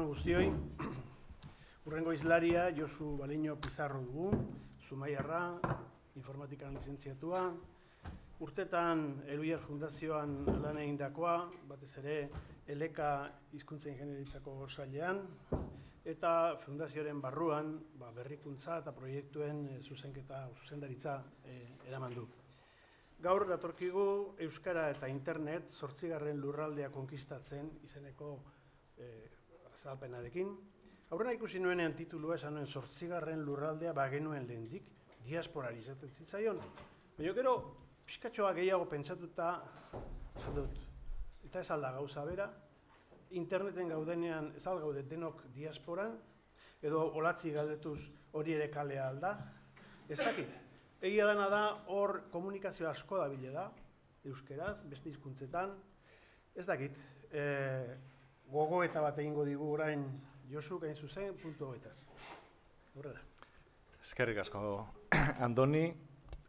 Arratsalde on guztioi. Urrengo hizlaria Josu Baleño Pizarro dugu, Zumaiarra, informatikan lizentziatua. Urtetan Eluiar Fundazioan lan egindakoa, batez ere Eleka hizkuntza ingeniaritzako sailean, eta fundazioaren barruan berrikuntza eta proiektuen zuzendaritza eraman du. Gaur datorkigu Euskara eta Internet 8. lurraldea konkistatzen izeneko azalpenarekin. Aurrena ikusi nuenean titulua esan nuen 8. lurraldea bagenuen lehendik, diasporari izaten zitzaion. Baina gero, pixkatxoa gehiago pentsatuta, esan dut, eta ez alda gauza bera, interneten gaudenean ez algaude denok diasporan, edo olatzi galdetuz hori ere kalea alda, ez dakit. Egia dena da, hor komunikazio asko dabile da, euskeraz, beste hizkuntzetan, ez dakit. Gogoeta bat egingo digu orain Josu gain zuzen, puntu hogetaz. Horrela. Eskerrik asko, Andoni.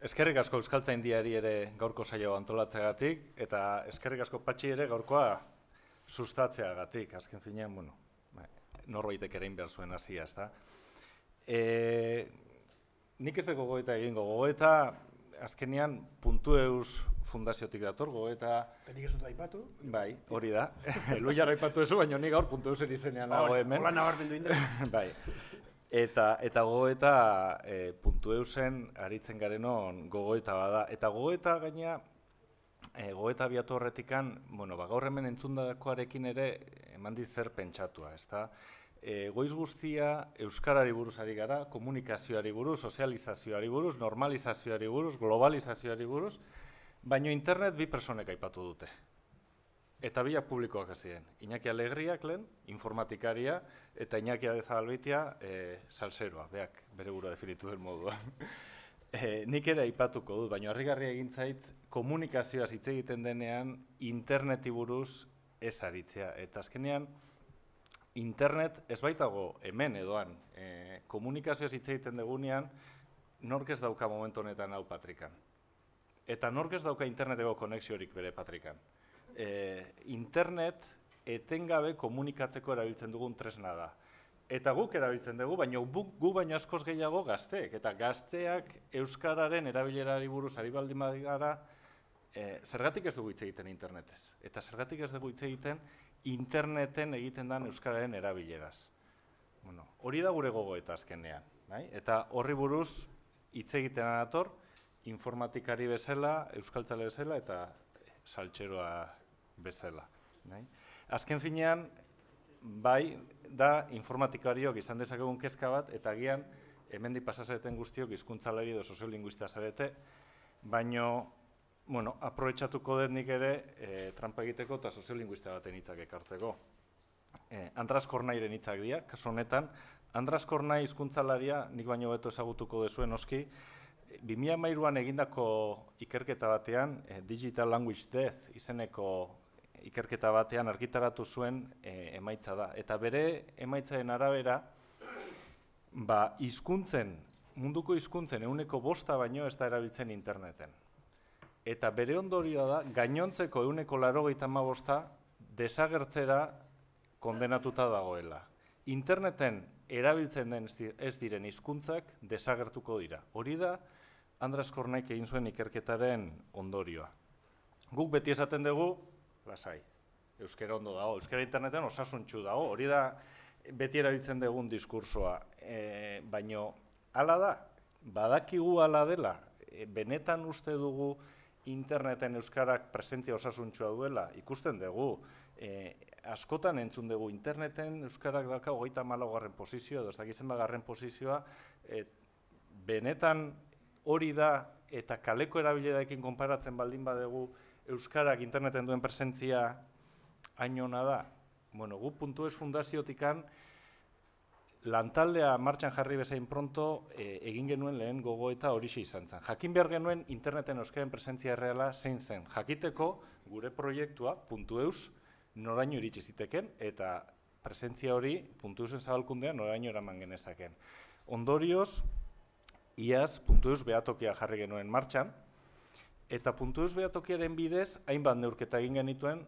Eskerrik asko Euskaltzaindiari ere gaurko saio antolatzeagatik, eta eskerrik asko Patxi ere gaurkoa sustatzeagatik. Azken finean, norbaitek ere behar zuen hasia, ezta? Nik ez dugu gogoeta egingo. Gogoeta, azkenean, Puntueus fundaziotik dator, gogoeta... Nik ez dut aipatu? Bai, hori da. Eluiar aipatu ezu, baina nik gaur Puntueusen izenean nago hemen. Hola nabarmendu inda. Bai. Eta gogoeta Puntueusen aritzen garenon gogoeta bada. Eta gogoeta gaina, gogoeta abiatu horretikan, gaur hemen entzundakoarekin ere eman dit zer pentsatua, ezta? Goiz guztia euskarari buruz ari gara, komunikazioari buruz, sozializazioari buruz, normalizazioari buruz, globalizazioari buruz, baina internet bi personek aipatu dute. Eta biak publikoak ziren. Iñaki Alegriak lehen, informatikaria, eta Iñaki Arezabalbeitia, salseroa, beak bere burua definitu den moduan. Nik ere aipatuko dut, baina harrigarria egin zait, komunikazioaz hitz egiten denean, interneti buruz ez aritzea. Eta azkenean, internet ez baitago hemen edoan, komunikazioaz hitz egiten degunean, nork ez dauka momentu honetan hau patrikan. Eta nork ez dauka interneteko konexiorik bere patrikan. Internet etengabe komunikatzeko erabiltzen dugun tresna da. Eta guk erabiltzen dugu, baina gu baino askoz gehiago gazteek. Eta gazteak euskararen erabilerari buruz ari baldin badira, zergatik ez dugu hitz egiten internetez. Eta zergatik ez dugu hitz egiten interneten egiten den euskararen erabileraz. Hori da gure gogoeta azkenean. Eta horri buruz hitz egiten dator, informatikari bezala, euskaltzale bezala eta saltxeroa bezala. Azken finean, bai, da informatikariok izan dezakegun kezka bat, eta agian hemendik pasazeten guztiok hizkuntzalari edo soziolinguista zarete, baino, aprobetxatuko dut nik ere trampa egiteko eta soziolinguista baten hitzak ekartzeko. Andras Kornairen hitzak dira, kasu honetan, Andras Kornai hizkuntzalaria, nik baino beto ezagutuko duzuen oski, 2013an egindako ikerketa batean, Digital Language Death izeneko ikerketa batean argitaratu zuen emaitza da. Eta bere emaitzaren arabera, munduko hizkuntzen 5% baino ez da erabiltzen interneten. Eta bere ondorioa da, gainontzeko 95% desagertzera kondenatuta dagoela. Interneten erabiltzen den ez diren hizkuntzak desagertuko dira. Hori da, Andras Kornaik egin zuen ikerketaren ondorioa. Guk beti esaten dugu, lasai, euskara ondo dago, euskara interneten osasuntsu dago, hori da beti erabiltzen dugun diskursoa. Baina, hala da, badakigu hala dela, benetan uste dugu interneten euskarak presentzia osasuntsua duela, ikusten dugu, askotan entzun dugu interneten euskarak dauka 34. posizioa, edo ez dakizen bagarren posizioa, benetan hori da eta kaleko erabilerarekin konparatzen baldin badugu euskarak interneten duen presentzia hain ona da. Gu Puntueus fundaziotikan lantaldea martxan jarri bezain pronto egin genuen lehen gogoeta horixe izan zen. Jakin behar genuen interneten euskaren presentzia erreala zein zen. Jakiteko gure proiektua Puntueus noraino iritsi ziteken eta presentzia hori Puntueusen zabalkundean noraino eraman genezaken. Ondorioz, iaz Puntueus behatokia jarri genuen martxan, eta Puntueus behatokiaren bidez hainbat neurketa egin genituen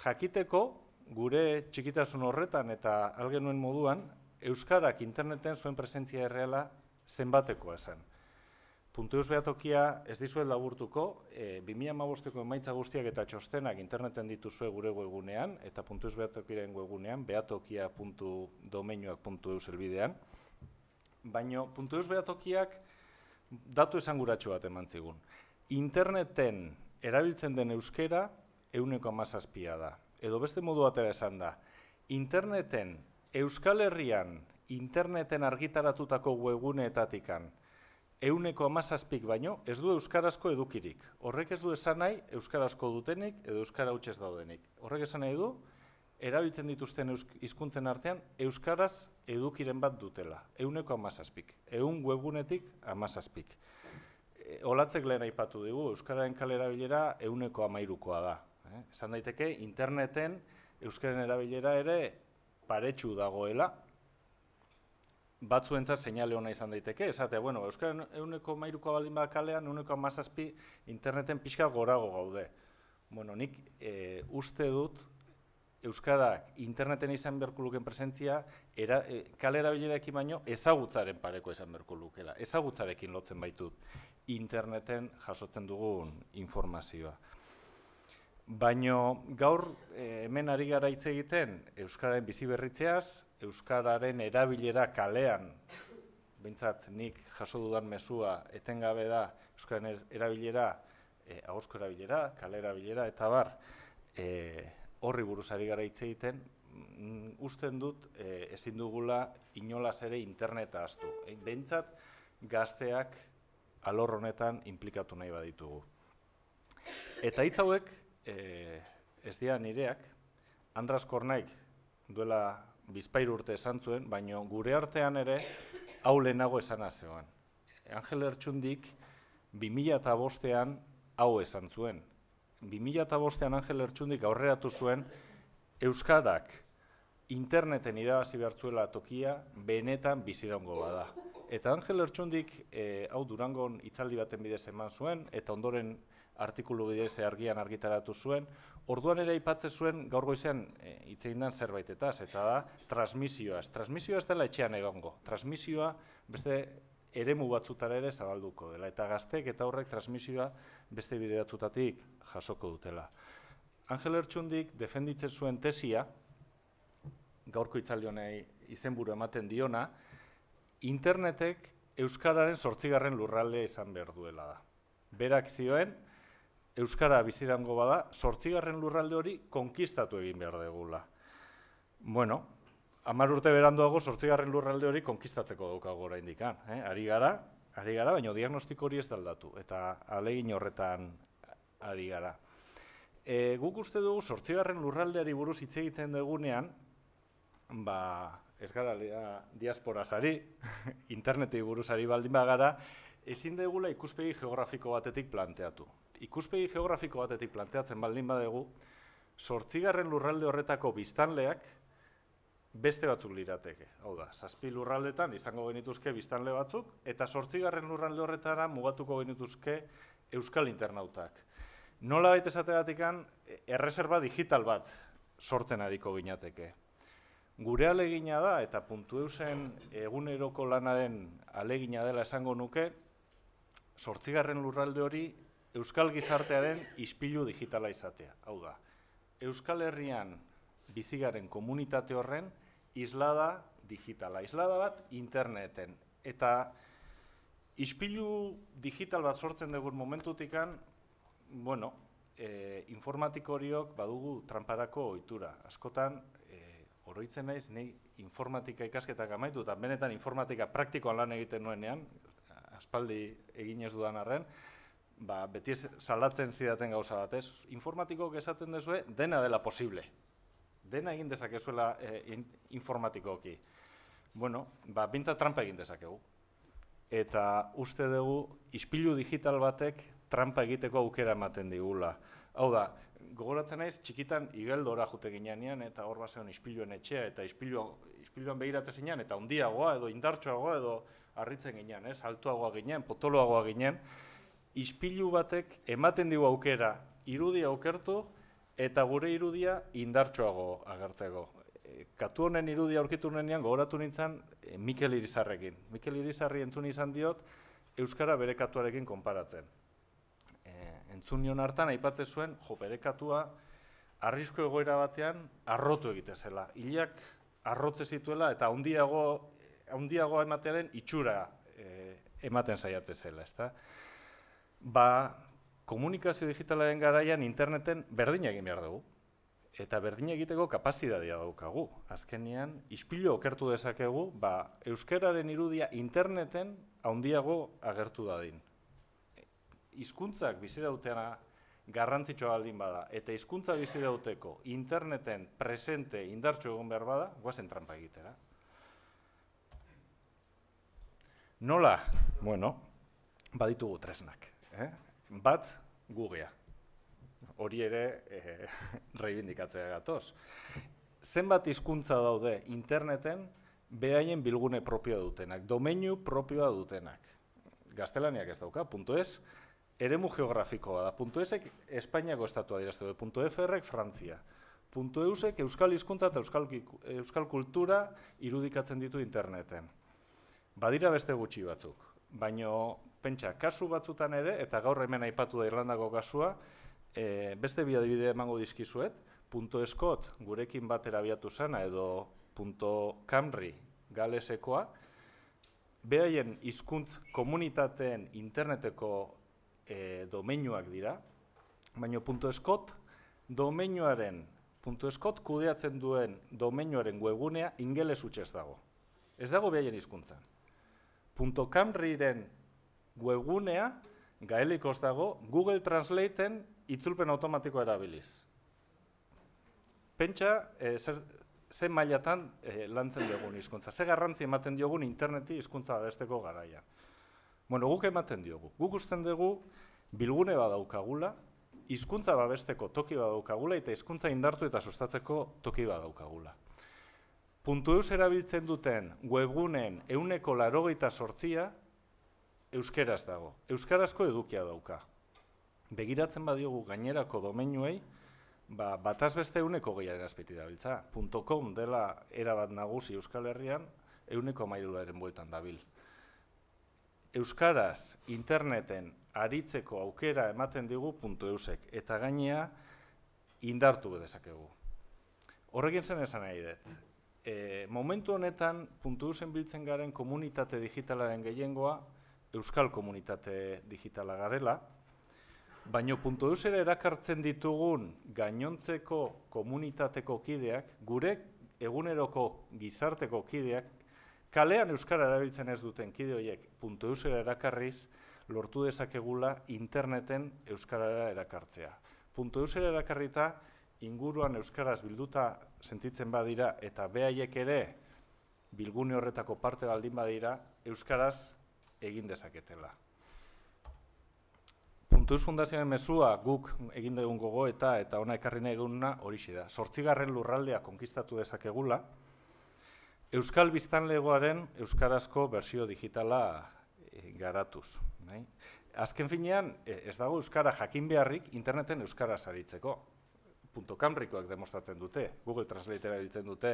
jakiteko gure txikitasun horretan eta algenuen moduan, euskarak interneten zuen presentzia erreala zenbatekoa esan. Puntu eus behatokia ez dizuet laburtuko, 2015ko emaitza guztiak eta txostenak interneten dituzue gure webgunean, eta puntu eus behatokiaren webgunean, behatokia.domeinuak.eus helbidean, baina puntu eus behatokiak datu esanguratsu bat eman zigun. Interneten erabiltzen den euskera 17% da. Edo beste modu batera esan da, interneten, Euskal Herrian, interneten argitaratutako webguneetatikan, 17% baino, ez du euskarazko edukirik. Horrek ez du esan nahi, euskarazko dutenik edo euskara hutsez daudenik. Horrek esan nahi du, erabiltzen dituzten hizkuntzen artean, euskaraz edukiren bat dutela. 17%. 100 webgunetik 17%. Olatzek lehen aipatu dugu, euskararen kale erabilera 13%koa da. Esan daiteke, interneten euskaren erabilera ere paretsu dagoela, batzuentzat seinale hona izan daiteke, esatea, bueno, euskaren 13%koa baldin bada kalean, 17% interneten pixka gorago gaude. Bueno, nik uste dut, euskarak interneten izan beharko luken presentzia, kale erabilerekin baino ezagutzaren pareko izan beharko lukela. Ezagutzarekin lotzen baitut interneten jasotzen dugun informazioa. Baina gaur hemen ari gara hitz egiten euskararen biziberritzeaz, euskararen erabilera kalean, behintzat nik jaso dudan mezua etengabe da euskararen erabilera, ahozko erabilera, kale erabilera eta bar, horri buruz ari gara hitz egiten, usten dut ezin dugula inolaz ere interneta ahaztu. Behintzat gazteak alor honetan inplikatu nahi baditugu. Eta hitz hauek, ez dira nireak, Andras Kornaik duela 2 urte esan zuen, baina gure artean ere hau lehenago esana zegoen. Angel Lertxundik 2005an hau esan zuen. 2005an Angel Lertxundik aurreratu zuen euskarak interneten irabazi behar zuela tokia benetan biziraungo bada. Eta Angel Lertxundik hau Durangon hitzaldi baten bidez eman zuen, eta ondoren artikulu bidez argian argitaratu zuen, orduan ere aipatzen zuen gaur goizean hitz egin den zerbaitetaz, eta da transmisioaz. Transmisioa ez dela etxean egongo. Transmisioa beste eremu batzutara ere zabalduko dela, eta gaztek eta horrek transmisioa beste bide batzutatik jasoko dutela. Angel Lertxundik defenditzen zuen tesia, gaurko hitzaldi honei izenburu ematen diona, internetek euskararen 8. lurraldea izan behar duela da. Berak zioen, euskara bizirango bada, 8. lurralde hori konkistatu egin behar degula. Bueno, 10 urte beranduago 8. lurralde hori konkistatzeko daukago oraindik. Ari gara, baina diagnostiko hori ez da aldatu, eta ahalegin horretan ari gara. Guk uste dugu 8. lurraldeari buruz hitz egiten dugunean, ez gara diasporaz ari, interneti buruz ari baldin bagara, ezin degula ikuspegi geografiko batetik planteatu. Ikuspegi geografiko batetik planteatzen baldin badegu, 8. lurralde horretako biztanleak beste batzuk lirateke. Hau da, 7 lurraldetan izango genituzke biztanle batzuk, eta 8. lurralde horretara mugatuko genituzke euskal internautak. Nola baita esategatikan, erreserba digital bat sortzen ariko ginateke. Gure alegina da, eta puntu eusen eguneroko lanaren alegina dela esango nuke, 8. lurralde hori euskal gizartearen ispilu digitala izatea. Hau da, Euskal Herrian bizigaren komunitate horren islada digitala, islada bat interneten. Eta ispilu digital bat sortzen dugun momentutikan, bueno, informatiko horiok badugu tramparako ohitura. Askotan, oroitzen naiz, ni informatika ikasketak amaitu, eta benetan informatika praktikoan lan egiten nuenean, aspaldi egin ez dudan arren, beti salatzen zidaten gauza batez. Informatikok esaten dezue, dena dela posible. Dena egin dezakezuela informatikoki. Bueno, bintzat trampa egin dezakegu. Eta uste dugu, ispilu digital batek trampa egiteko aukera ematen digula. Hau da, gogoratzen naiz, txikitan igeldora jute ginean, eta hor bazeon ispiluen etxea, eta ispiluan begiratzen zinean, eta handiagoa, edo indartsuagoa, edo harritzen ginean, altuagoa ginen, potoloagoa ginen. Ispilu batek ematen digu aukera irudia aukertu, eta gure irudia indartsuago agertzeko. Katu honen irudia aurkitu nenean gogoratu nintzen Mikel Irizarrekin. Mikel Irizarri entzun izan diot euskara bere katuarekin konparatzen. Entzun nion hartan aipatzen zuen, bere katua arrisku egoera batean arrotu egite zela. Hilak arrotze zituela eta handiago ematearen itxura ematen saiatzen zela, ezta? Komunikazio digitalaren garaian interneten berdin egin behar dugu. Eta berdin egiteko kapazitatea daukagu. Azkenean, ispilu okertu dezakegu, euskararen irudia interneten handiago agertu dadin. Hizkuntzak bizirautena garrantzitsua baldin bada, eta hizkuntza bizirauteko interneten presente indartsu egon behar bada, guazen tranpa egitera. Nola? Bueno, baditugu tresnak. Bat, Googlea. Hori ere reibindikatzea gatoz. Zenbat hizkuntza daude interneten beraien bilgune propioa dutenak, domeinu propioa dutenak. Gaztelaniak ez dauka, .es, eremu geografikoa da. .esek Espainiako estatua dirazte du, .frek Frantzia. .eusek euskal hizkuntza eta euskal kultura irudikatzen ditu interneten. Badira beste gutxi batzuk, baina pentsa, kasu batzutan ere, eta gaur hemen aipatu da Irlandako kasua, beste bi adibide emango dizkizuet, .escot gurekin batera abiatu zana edo .camry galesekoa, beraien hizkuntz komunitateen interneteko domeinuak dira, baina .escot domeinuaren, .escot kudeatzen duen domeinuaren webgunea ingeles hutsez dago. Ez dago beraien hizkuntzan. .camryren webgunea gaelikoz dago Google Translateen itzulpen automatikoa erabiliz. Pentsa, ze mailatan lantzen diogun hizkuntza, ze garrantzi ematen diogun interneti hizkuntza babesteko garaia. Bueno, guk ematen diogu. Guk usten dugu bilgune badaukagula, hizkuntza babesteko toki badaukagula eta hizkuntza indartu eta sustatzeko toki badaukagula. .eus erabiltzen duten webguneen 98% euskeraz dago. Euskarazko edukia dauka. Begiratzen badiogu gainerako domeinuei, bataz beste 120 azpiti dabiltza. .com dela erabat nagusi Euskal Herrian, 113 bueltan dabil. Euskaraz interneten aritzeko aukera ematen digu .eusek, eta gainea indartu dezakegu. Horrekin zen esan nahi dut. Momentu honetan, .eusen biltzen garen komunitate digitalaren gehiengoa, euskal komunitate digitala garela, baina .eusera erakartzen ditugun gainontzeko komunitateko kideak, gure eguneroko gizarteko kideak, kalean euskara erabiltzen ez duten kide horiek .eusera erakarriz, lortu dezakegula interneten euskarara erakartzea. .eusera erakarrita, inguruan euskaraz bilduta sentitzen badira eta behaiek ere bilgune horretako parte baldin badira, euskaraz egin dezaketela. .eus fundazioaren mezua guk egin dugun gogoeta eta ona ekarri nahi eguna horixe da. 8. lurraldea konkistatu dezakegula, euskal biztanlegoaren euskarazko bersio digitala garatuz. Azken finean, ez dago euskara jakin beharrik interneten euskaraz aritzeko. .camrykoak demostratzen dute, Google Translate erabiltzen dute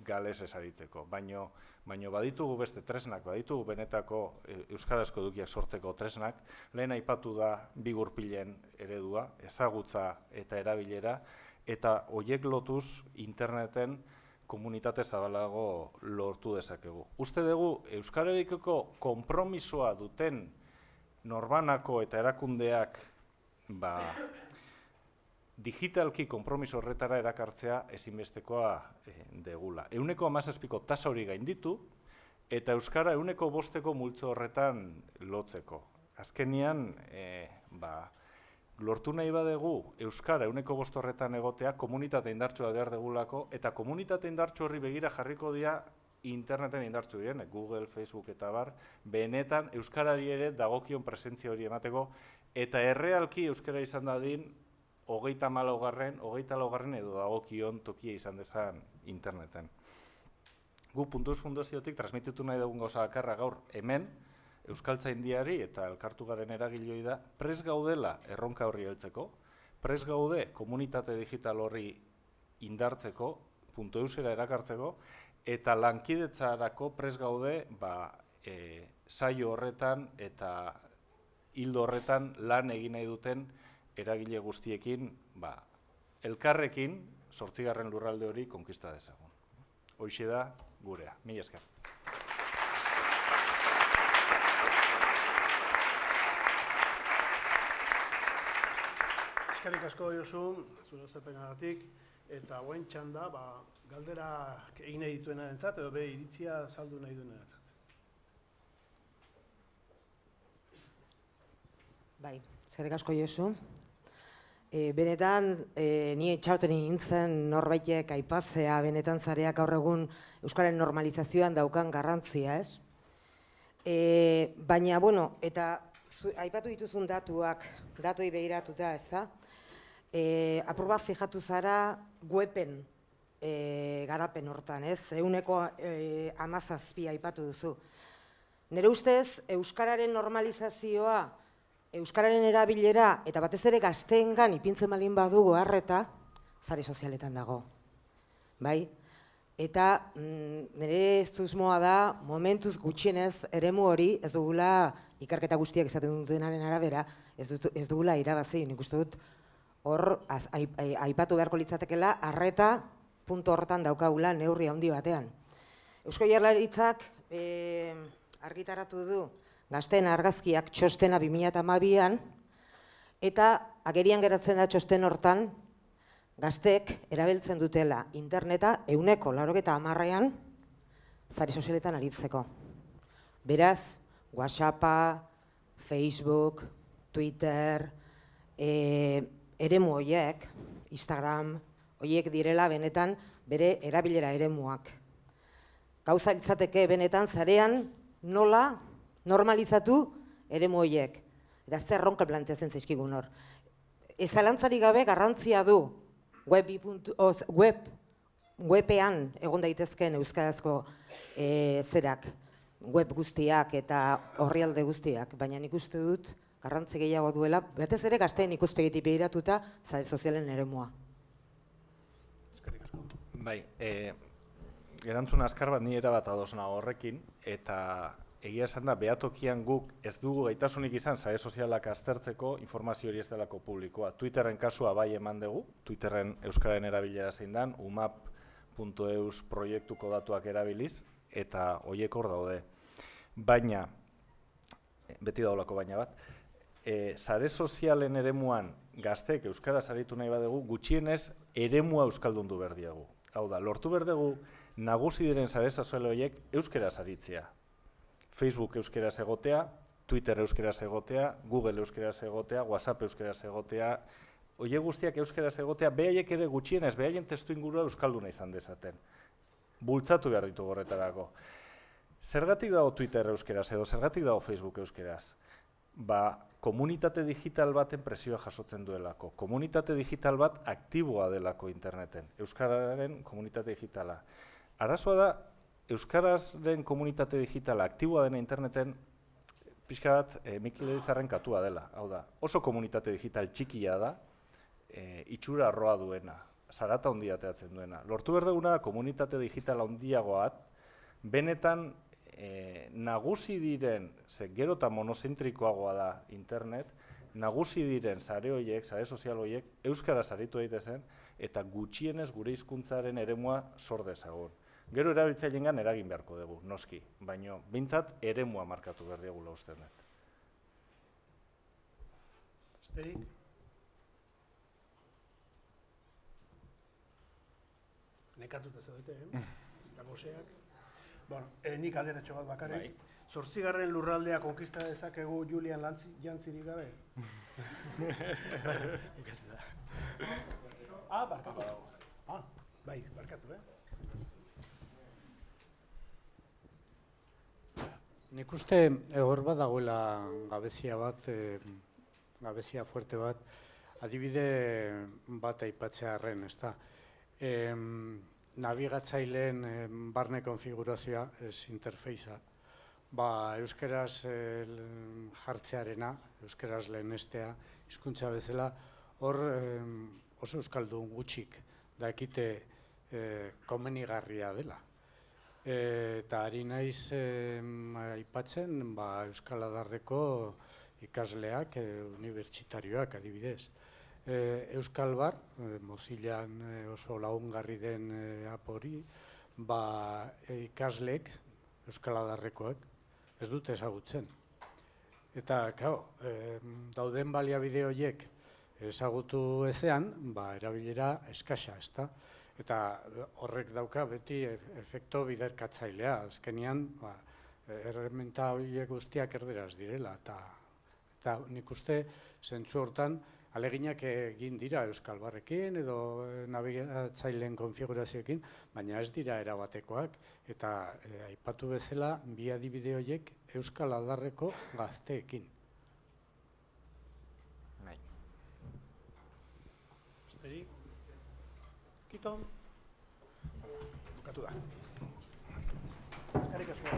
galesez aritzeko, baino baditugu beste tresnak, baditugu benetako euskarazko edukiak sortzeko tresnak, lehen aipatu da bi gurpilen eredua, ezagutza eta erabilera, eta horiek lotuz interneten komunitate zabalago lortu dezakegu. Uste dugu, euskararekiko konpromisoa duten norbanako eta erakundeak digitalki konpromiso horretara erakartzea ezinbestekoa degula. 17% tasa hori gainditu eta euskara 5% multzo horretan lotzeko. Azkenean, lortu nahi badegu euskara 5% horretan egotea komunitate indartsua behar degulako eta komunitate indartsu horri begira jarriko dira interneten indartsu diren, Google, Facebook eta bar, benetan euskarari ere dagokion presentzia hori emateko eta errealki euskara izan dadin 34. edo dagokion tokia izan dezan interneten. Gu .eus fundaziotik transmititu nahi dugun gauza bakarra gaur hemen, Euskaltzaindiari eta elkartu garen eragileoi da, prest gaudela erronka horri heltzeko, Prest gaude komunitate digital horri indartzeko, .eusera erakartzeko, eta lankidetzarako prest gaude saio horretan eta hildo horretan lan egin nahi duten eragile guztiekin elkarrekin 8. lurralde hori konkista dezagun. Hoxe da gurea. Mila esker. Eskerrik asko Josu, zure azalpenagatik, eta guain txanda, galderak egin nahi dituenarentzat, edo iritzia saldu nahi duenarentzat. Bai, eskerrik asko Josu. Benetan, ni itxaroten nintzen norbaitek aipatzea, benetan zareak gaur egun Euskararen normalizazioan daukan garrantzia, ez? Baina, bueno, eta aipatu dituzun datuei begiratuta, ez da? Apur bat fijatu zara weben garapen hortan, ez? 17% aipatu duzu. Nire ustez, Euskararen normalizazioa, Euskararen erabilera eta batez ere gazteengan ipintzen baldin badugu harreta, sare sozialetan dago. Bai? Eta nire susmoa da, momentuz gutxienez eremu hori ez dugula ikerketa guztiak esaten dutenaren arabera, ez dugula irabazi. Nik uste dut hor aipatu beharko litzatekeela harreta puntu horretan daukagula neurri handi batean. Eusko Jaurlaritzak argitaratu du Gazteen argazkiak txostena 2012an, eta agerian geratzen da txosten hortan gazteek erabiltzen dutela interneta 90%an sare sozialetan aritzeko. Beraz, WhatsAppa, Facebook, Twitter, eremu horiek, Instagram, horiek direla benetan bere erabilera eremuak. Gauza litzateke benetan zarean nola normalizatu eremu horiek. Eta zer ronka planteatzen zaizkigun hor. Ez zalantzarik gabe garrantzia du webean egon daitezkeen euskarazko web guztiak eta orrialde guztiak, baina nik uste dut garrantzi gehiago duela, batez ere gazteen ikuspegitik begiratuta sare sozialen eremua. Eskerrik asko. Bai, erantzun azkar bat ni erabat ados nago horrekin, eta egia esan da, behatokian guk ez dugu gaitasunik izan sare sozialak aztertzeko informazio hori ez delako publikoa. Twitterren kasua bai eman dugu, Twitterren euskararen erabilera zein dan, umap.eus proiektuko datuak erabiliz, eta horiek hor daude. Baina, beti daulako baina bat, sare sozialen eremuan gazteek euskaraz aritu nahi badugu, gutxienez eremua euskaldundu behar diagu. Hau da, lortu behar dugu nagusi diren sare sozial horiek euskaraz aritzea. Facebook euskeraz egotea, Twitter euskeraz egotea, Google euskeraz egotea, WhatsApp euskeraz egotea, horiek guztiak euskeraz egotea, behaiek ere gutxienez, behaien testu ingurua euskalduna izan dezaten. Bultzatu behar ditu horretarako. Zergatik dago Twitter euskeraz edo, zergatik dago Facebook euskeraz? Komunitate digital baten presioa jasotzen duelako. Komunitate digital bat aktiboa delako interneten. Euskararen komunitate digitala. Arazoa da, Euskarazren komunitate digitala aktiboa dena interneten pixka bat Mikel Elizarren katua dela. Hau da, oso komunitate digital txikia da, itxura arroa duena, zarata handia ateratzen duena. Lortu behar duguna komunitate digital handiagoat, benetan nagusi diren, gero eta monozentrikoagoa da internet, nagusi diren sare horiek, sare sozial horiek, euskaraz aritu daitezen, eta gutxienez gure hizkuntzaren eremua sor dezagun. Gero erabiltzaileengan eragin beharko dugu, noski, baina behintzat eremua markatu behar diegula usten dut. Besterik? Nekatuta zaudete, eta goseak. Nik alderatxo bat bakarrik. 8. lurraldea konkista dezakegu Julian Jantzirik gabe? Barkatu. Bai, barkatu, Nik uste hor bat dagoela gabezia bat, gabezia fuerte bat, adibide bat aipatzearren, ez da. Nabigatzaileen barne konfigurazioa, ez interfeiza, euskaraz jartzearena, euskaraz lehenestea, hizkuntza bezala, hor oso euskaldun gutxik dakite komenigarria dela. Eta ari naiz aipatzen Euskal Adarreko ikasleak, unibertsitarioak adibidez. Euskal Bar, Mozilan oso lagungarri den apori, ikasleek, Euskal Adarrekoak, ez dute ezagutzen. Eta, dauden baliabide horiek ezagutu ezean, erabilera eskasa, ezta? Eta horrek dauka beti efekto biderkatzailea. Azkenean, erreminta horiek guztiak erderaz direla. Eta nik uste, zentzu hortan, aleginak egin dira Euskal Barrekin edo nabigatzaileen konfigurazioekin, baina ez dira erabatekoak. Eta aipatu bezala, bi adibide horiek Euskal Adarreko gazteekin. Besterik? Kito? Bukatu da. Eskerrik asko.